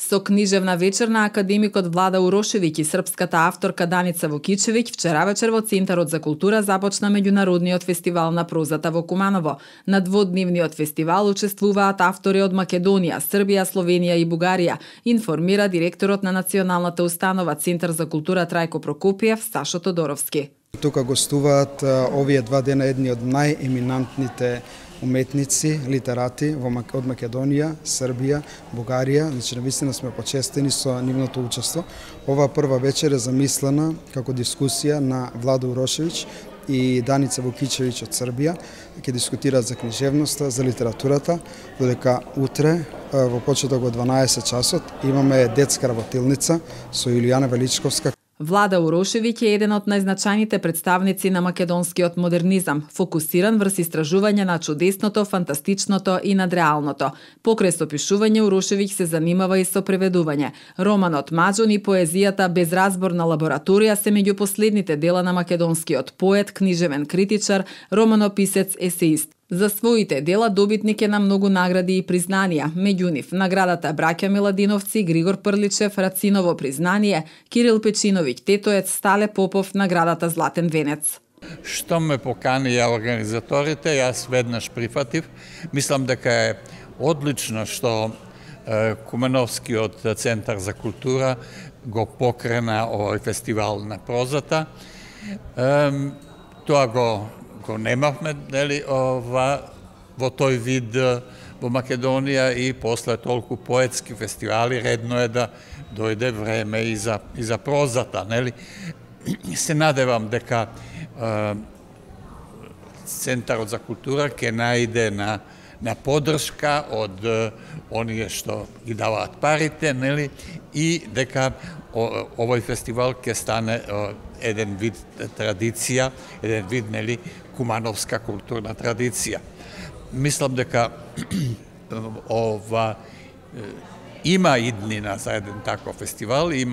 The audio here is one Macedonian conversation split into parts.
Со книжевна вечер на академикот Влада Урошевиќ и српската авторка Даница Вукичевиќ вчера вечер во Центарот за култура започна меѓународниот фестивал на прозата во Куманово. На дводневниот фестивал учествуваат автори од Македонија, Србија, Словенија и Бугарија, информира директорот на Националната установа Центар за култура Трајко Прокопиев, Сашо Тодоровски. Тука гостуваат овие два дена едни од најеминантните уметници, литерати од Македонија, Србија, Бугарија. Значи, навистина сме почестени со нивното учество. Ова прва вечер е замислена како дискусија на Влада Урошевиќ и Даница Вукичевиќ од Србија. Ќе дискутираат за книжевноста, за литературата, додека утре во почеток од 12 часот имаме детска работилница со Илијана Величковска. Влада Урошевиќ е еден од најзначајните представници на македонскиот модернизам, фокусиран врз истражување на чудесното, фантастичното и надреалното. Покрај со пишување, Урошевиќ се занимава и со преведување. Романот Маџон и поезијата Безразборна лабораторија се меѓу последните дела на македонскиот поет, книжевен критичар, романописец, есеист. За своите дела добитник е на многу награди и признанија, меѓу нив наградата Браќа Миладиновци, Григор Прличев, Рациново признание, Кирил Печиновиќ Тетоец, Стале Попов, наградата Златен венец. Што ме поканија организаторите, јас веднаш прифатив. Мислам дека е одлично што Кумановскиот Центар за култура го покрена овој фестивал на прозата. Тоа го немавме, нели, во тој вид во Македонија и после толку поетски фестивали редно е да дојде време и за прозата, нели. Се надевам дека Центарот за култура ќе најде на поддршка од оние што ги даваат парите, нели, и дека овој фестивал ќе стане еден вид традиција, еден вид, нели, кумановска културна традиција. Мислам дека има иднина за еден таков фестивал, и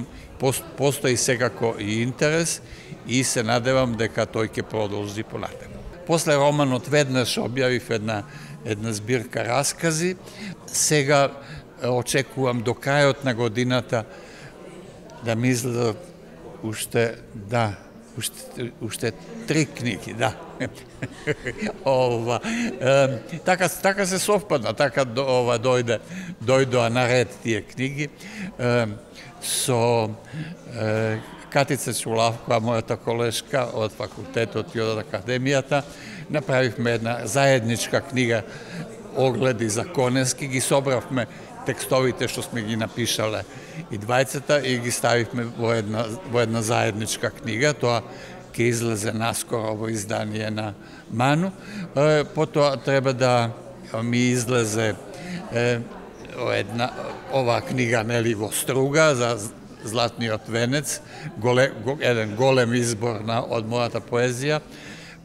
постои секако и интерес, и се надевам дека тој ќе продолжи понатаму. После романот веднаш објавив една збирка раскази. Сега очекувам до крајот на годината да ми излезат уште 3 книги, да. Така се совпадна, така дојдоа наред тие книги. Со Катица Чулавкова, мојата колешка од факултетот и од академијата, направивме една заедничка книга Огледи за Конески, ги собравме текстовите што сме ги напишале и двајцата и ги ставивме во една заедничка книга. Тоа ќе излезе наскоро во издание на Ману. Потоа треба да ми излезе оваа книга, нели, во Струга за Златниот венец, еден голем избор од мојата поезија,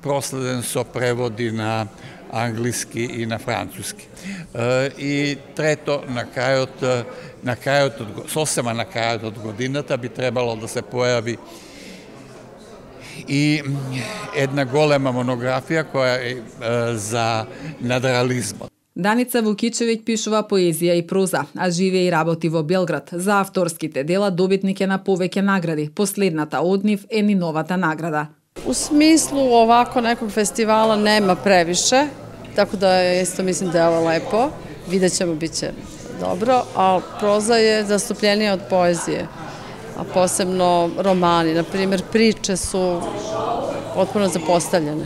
проследен со преводи на англиски и на француски. И трето, сосема на крајот од годината би требало да се појави и една голема монографија која е за надреализмот. Даница Вукичевиќ пишува поезија и проза, а живее и работи во Белград. За авторските дела добитник е на повеќе награди. Последната од нив е Ниновата награда. U smislu ovako nekog festivala nema previše, tako da isto mislim da je ovo lepo. Vidjet ćemo, bit će dobro, a proza je zastupljenija od poezije, a posebno romani. Naprimjer, priče su potpuno zapostavljene.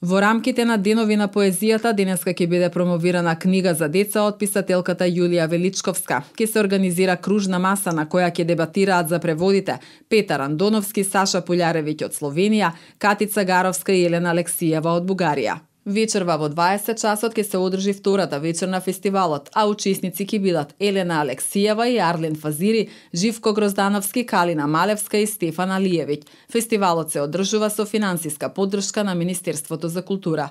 Во рамките на денови на поезијата денеска ќе биде промовирана книга за деца од писателката Јулија Величковска. Ќе се организира кружна маса на која ќе дебатираат за преводите Петар Андоновски, Саша Пулјаревиќ од Словенија, Катица Гаровска и Елена Алексиева од Бугарија. Вечерва во 20 часот ќе се одржи втората вечер на фестивалот, а учесници ќе бидат Елена Алексиева и Арлин Фазири, Живко Гроздановски, Калина Малевска и Стефан Алиевиќ. Фестивалот се одржува со финансиска поддршка на Министерството за култура.